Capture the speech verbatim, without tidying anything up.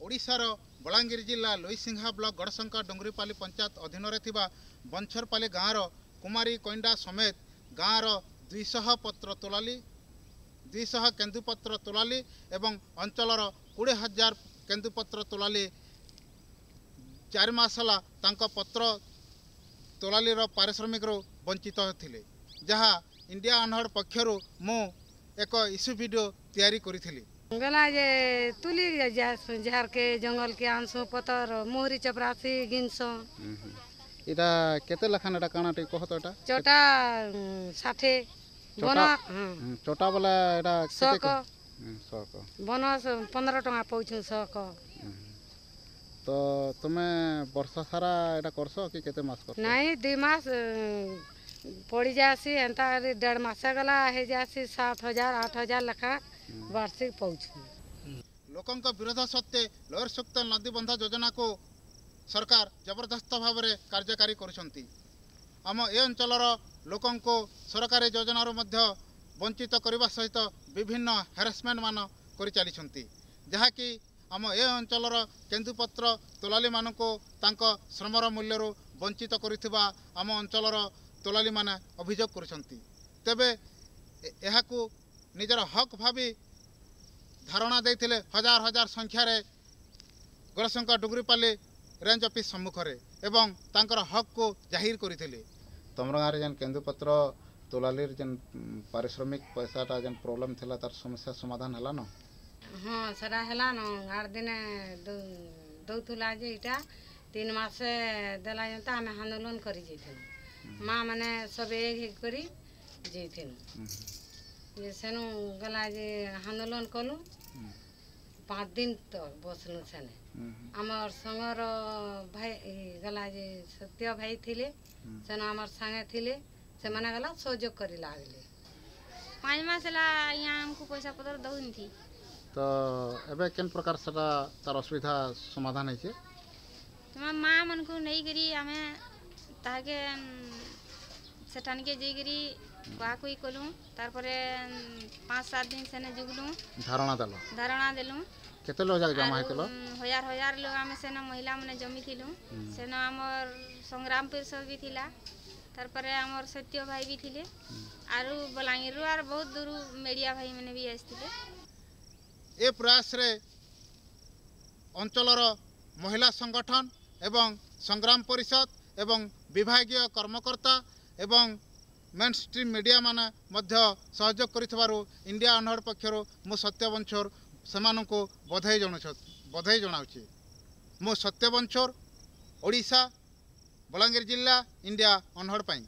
ଓଡ଼ିଶାର ବଲାଙ୍ଗୀର ଜିଲ୍ଲା ଲୋଇସିଂହା ବ୍ଲକ ଗଡ଼ଶଙ୍କା ଡୁଙ୍ଗୁରିପାଲି ପଞ୍ଚାୟତ ଅଧୀନରେ ଥିବା ବଂଛରପାଲି ଗାଁର କୁମାରୀ କଇଣ୍ଡା ସମେତ ଗାଁର ଦୁଇଶହ ପତ୍ର ତୋଲାଲି ଦୁଇଶହ କେନ୍ଦୁପତ୍ର ତୋଲାଲି ଏବଂ ଅଞ୍ଚଳର କୋଡ଼ିଏ ହଜାର କେନ୍ଦୁପତ୍ର ତୋଲାଲି ଚାରି ମାସ ହେଲା ତାଙ୍କ ପତ୍ର ତୋଲାଲିର ପାରିଶ୍ରମିକରୁ ବଞ୍ଚିତ ଥିଲେ, ଯାହା ଇଣ୍ଡିଆ ଅନହର୍ଡ ପକ୍ଷରୁ ମୁଁ ଏକ ଇସ୍ୟୁ ଭିଡ଼ିଓ ତିଆରି କରିଥିଲି। ଗଲା ଯେ ତୁଲି ଝାରକେ ଜଙ୍ଗଲକେ ଆନସୁ ପତର ମୋହରି ଚପରାସି ଗିନସୁ। ଏଟା କେତେ ଲେଖାନ ଏଟା କାଣା ଟିକେ କହ ତ? ଏଟା ଚଟା ଷାଠେ ବନ ଚଟା ବୋଲେ ଏଟା ଶକ ଶକ ବନ ପନ୍ଦର ଟଙ୍କା ପାଉଛୁ ଶକ। ତ ତୁମେ ବର୍ଷ ସାରା ଏଟା କରସ କି କେତେ ମାସ କରସ? ନାଇଁ, ଦୁଇ ମାସ ପଡ଼ି ଯାଏସି, ଏନ୍ତା ଦେଢ଼ ମାସ ଗଲା ହେଇଯାଏସି ସାତ ହଜାର ଆଠ ହଜାର ଲେଖା ବାର୍ଷିକ ପାଉଛୁ। ଲୋକଙ୍କ ବିରୋଧ ସତ୍ତ୍ୱେ ଲୋୟର ସୁକ୍ତେଲ ନଦୀବନ୍ଧ ଯୋଜନାକୁ ସରକାର ଜବରଦସ୍ତ ଭାବରେ କାର୍ଯ୍ୟକାରୀ କରୁଛନ୍ତି। ଆମ ଏ ଅଞ୍ଚଳର ଲୋକଙ୍କୁ ସରକାରୀ ଯୋଜନାରୁ ମଧ୍ୟ ବଞ୍ଚିତ କରିବା ସହିତ ବିଭିନ୍ନ ହାରାସମେଣ୍ଟ ମାନ କରିଚାଲିଛନ୍ତି, ଯାହାକି ଆମ ଏ ଅଞ୍ଚଳର କେନ୍ଦୁପତ୍ର ତୋଲାଲିମାନଙ୍କୁ ତାଙ୍କ ଶ୍ରମର ମୂଲ୍ୟରୁ ବଞ୍ଚିତ କରିଥିବା ଆମ ଅଞ୍ଚଳର ତୋଲାଲିମାନେ ଅଭିଯୋଗ କରୁଛନ୍ତି। ତେବେ ଏହାକୁ ନିଜର ହକ୍ ଭାବି ଧାରଣା ଦେଇଥିଲେ ହଜାର ହଜାର ସଂଖ୍ୟାରେ ଗଡ଼ଶଙ୍କା ଡୁଙ୍ଗୁରିପାଲି ରେଞ୍ଜ ଅଫିସ୍ ସମ୍ମୁଖରେ ଏବଂ ତାଙ୍କର ହକ୍କୁ ଜାହିର କରିଥିଲେ। ତମର ଗାଁରେ ଯେନ୍ କେନ୍ଦୁପତ୍ର ତୋଲାଲିର ଯେନ୍ ପାରିଶ୍ରମିକ ପଇସାଟା ଯେନ୍ ପ୍ରୋବ୍ଲେମ୍ ଥିଲା, ତାର ସମସ୍ୟା ସମାଧାନ ହେଲା ନ? ହଁ, ସେଟା ହେଲାନ। ଆଠ ଦିନେ ଦଉଥିଲା ଯେ ଇଟା ତିନି ମାସେ ଦେଲା ଯେନ୍ତା ଆମେ ଆନ୍ଦୋଳନ କରି ଯାଇଥିଲୁ, ମା ମାନେ ସବୁ ଏକ ହେଇକରି କରି ଯାଇଥିଲୁ ଯେ ସେନୁ ଗଲା ଯେ ଆନ୍ଦୋଳନ କଲୁ, ପାଞ୍ଚ ଦିନ ତ ବସଲୁ ସେନେ। ଆମର୍ ସଙ୍ଗର ଭାଇ ଗଲା ଯେ ସତ୍ୟ ଭାଇ ଥିଲେ ସେନ, ଆମର୍ ସାଙ୍ଗେ ଥିଲେ, ସେମାନେ ଗଲା ସହଯୋଗ କରି ଲାଗଲେ। ପାଞ୍ଚ ମାସ ହେଲା ଆଜ୍ଞା ଆମକୁ ପଇସା ପତ୍ର ଦଉନି। ତ ଏବେ କେନ୍ ପ୍ରକାର ସେଟା ତାର ଅସୁବିଧା ସମାଧାନ ହେଇছে? ତୁମେ ମା ମାନଙ୍କୁ ନେଇକରି ଆମେ ତାହାକେ ସେଠାନିକେ ଯାଇକରି କୁହାକୁହି କଲୁ, ତାରପରେ ପାଞ୍ଚ ସାତ ଦିନ ସେନେ ଯୁଗଲୁ, ଧାରଣା ଦେଲ? ଧାରଣା ଦେଲୁ। କେତେ ଲୋକ ଯାକ ଜମା ହେଇଥିଲ? ହଜାର ହଜାର ଲୋକ ଆମେ ସେନ ମହିଳା ମାନେ ଜମିଥିଲୁ। ସେନ ଆମର ସଂଗ୍ରାମ ପରିଷଦ ବି ଥିଲା, ତାରପରେ ଆମର ସତ୍ୟ ଭାଇ ବି ଥିଲେ, ଆରୁ ବଲାଙ୍ଗୀରରୁ ଆର୍ ବହୁତ ଦୂରୁ ମିଡ଼ିଆ ଭାଇ ମାନେ ବି ଆସିଥିଲେ। ଏ ପ୍ରୟାସରେ ଅଞ୍ଚଳର ମହିଳା ସଂଗଠନ ଏବଂ ସଂଗ୍ରାମ ପରିଷଦ ଏବଂ ବିଭାଗୀୟ କର୍ମକର୍ତ୍ତା ଏବଂ ମେନ୍ ଷ୍ଟ୍ରିମ୍ ମିଡ଼ିଆମାନେ ମଧ୍ୟ ସହଯୋଗ କରିଥିବାରୁ ଇଣ୍ଡିଆ ଅନହର୍ଡ ପକ୍ଷରୁ ମୁଁ ସତ୍ୟ ବଂଛୋର ସେମାନଙ୍କୁ ବଧେଇ ଜଣାଉଛି ବଧେଇ ଜଣାଉଛି। ମୁଁ ସତ୍ୟ ବଂଛୋର, ଓଡ଼ିଶା, ବଲାଙ୍ଗୀର ଜିଲ୍ଲା, ଇଣ୍ଡିଆ ଅନହର୍ଡ ପାଇଁ।